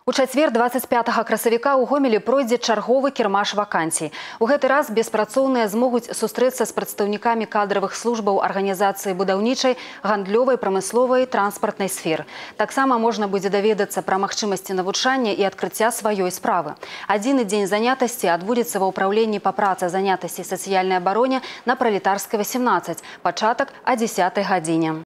У чацвер 25 красавіка ў Гомелі пройдзе чарговы кірмаш вакансій. У гэты раз беспрацоўныя змогуць сустрэцца з прадстаўнікамі кадравых службаў арганізацыі будаўнічай, гандлёвай, прамысловай, транспартнай сфер. Таксама можна будзе даведацца пра магчымасці навучання і адкрыцця сваёй справы. Адзіны дзень занятасці адбудзецца ва ўпраўленні па працы занятасці і сацыяльнай абароне на Пралетарскай 18. Пачатак о 10 гадзіне.